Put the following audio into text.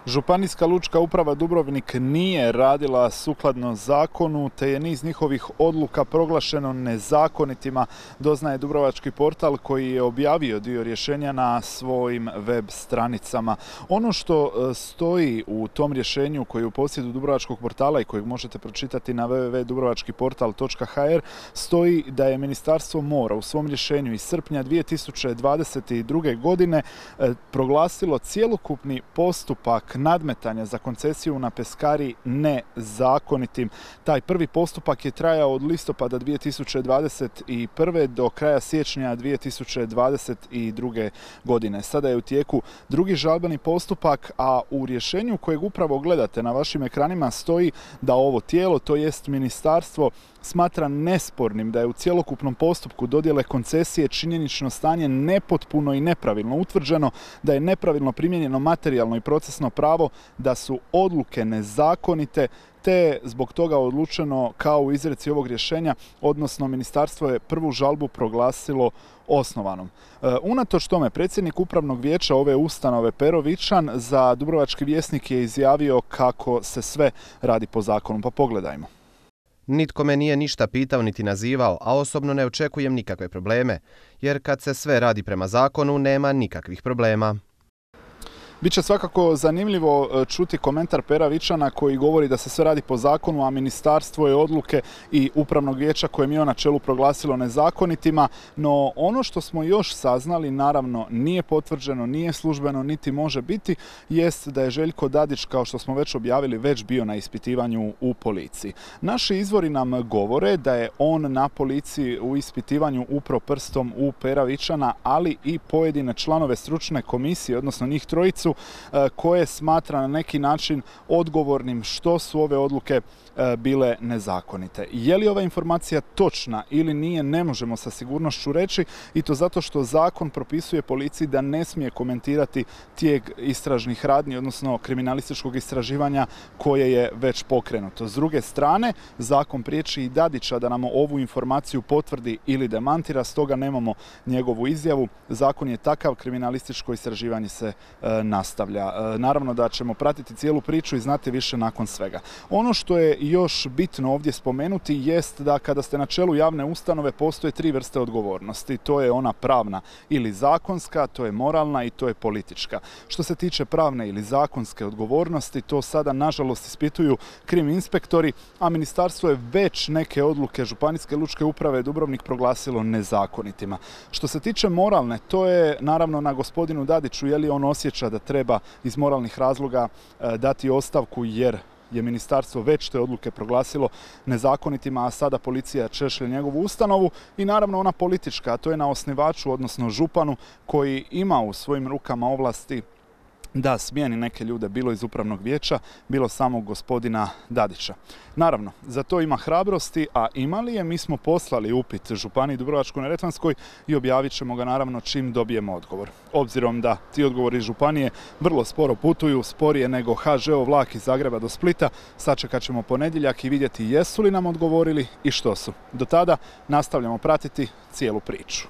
Županijska lučka uprava Dubrovnik nije radila sukladno zakonu, te je niz njihovih odluka proglašeno nezakonitima, doznaje Dubrovački portal koji je objavio dio rješenja na svojim web stranicama. Ono što stoji u tom rješenju koji je u posjedu Dubrovačkog portala i kojeg možete pročitati na www.dubrovačkiportal.hr stoji da je Ministarstvo mora u svom rješenju iz srpnja 2022. godine proglasilo cjelokupni postupak nadmetanja za koncesiju na Peskari nezakonitim. Taj prvi postupak je trajao od listopada 2021. do kraja siječnja 2022. godine. Sada je u tijeku drugi žalbeni postupak, a u rješenju kojeg upravo gledate na vašim ekranima stoji da ovo tijelo, to jest ministarstvo, smatra nespornim da je u cjelokupnom postupku dodjele koncesije činjenično stanje nepotpuno i nepravilno utvrđeno, da je nepravilno primijenjeno materijalno i procesno pravo, da su odluke nezakonite, te je zbog toga odlučeno kao u izreci ovog rješenja, odnosno ministarstvo je prvu žalbu proglasilo osnovanom. Unatoč tome, predsjednik upravnog vijeća ove ustanove Pero Vičan za Dubrovački vjesnik je izjavio kako se sve radi po zakonu. Pa pogledajmo. Nitko me nije ništa pitao niti nazivao, a osobno ne očekujem nikakve probleme, jer kad se sve radi prema zakonu nema nikakvih problema. Biće svakako zanimljivo čuti komentar Pera Vičana koji govori da se sve radi po zakonu, a ministarstvo je odluke i upravnog vijeća koje mi je na čelu proglasilo nezakonitima. No ono što smo još saznali, naravno nije potvrđeno, nije službeno, niti može biti, jest da je Željko Dadić, kao što smo već objavili, već bio na ispitivanju u policiji. Naši izvori nam govore da je on na policiji u ispitivanju upro prstom u Pera Vičana, ali i pojedine članove stručne komisije, odnosno njih trojicu, koje smatra na neki način odgovornim što su ove odluke bile nezakonite. Je li ova informacija točna ili nije, ne možemo sa sigurnošću reći, i to zato što zakon propisuje policiji da ne smije komentirati tijek istražnih radnji, odnosno kriminalističkog istraživanja koje je već pokrenuto. S druge strane, zakon priječi i Dadića da nam ovu informaciju potvrdi ili demantira, stoga nemamo njegovu izjavu. Zakon je takav, kriminalističko istraživanje se nastavlja. Naravno da ćemo pratiti cijelu priču i znati više nakon svega. Ono što je još bitno ovdje spomenuti jest da kada ste na čelu javne ustanove postoje tri vrste odgovornosti. To je ona pravna ili zakonska, to je moralna i to je politička. Što se tiče pravne ili zakonske odgovornosti, to sada nažalost ispituju krim inspektori, a ministarstvo je već neke odluke Županijske lučke uprave Dubrovnik proglasilo nezakonitima. Što se tiče moralne, to je naravno na gospodinu Dadiću, je li on osjeća da treba iz moralnih razloga dati ostavku jer je ministarstvo već te odluke proglasilo nezakonitima, a sada policija češlje njegovu ustanovu, i naravno ona politička, a to je na osnivaču, odnosno županu, koji ima u svojim rukama ovlasti da smijeni neke ljude, bilo iz upravnog vijeća, bilo samog gospodina Dadića. Naravno, za to ima hrabrosti, a ima li je? Mi smo poslali upit Županiji Dubrovačko-neretvanskoj i objavit ćemo ga naravno čim dobijemo odgovor. Obzirom da ti odgovori županije vrlo sporo putuju, sporije nego HŽ-ov vlak iz Zagreba do Splita, sačekat ćemo ponedjeljak i vidjeti jesu li nam odgovorili i što su. Do tada nastavljamo pratiti cijelu priču.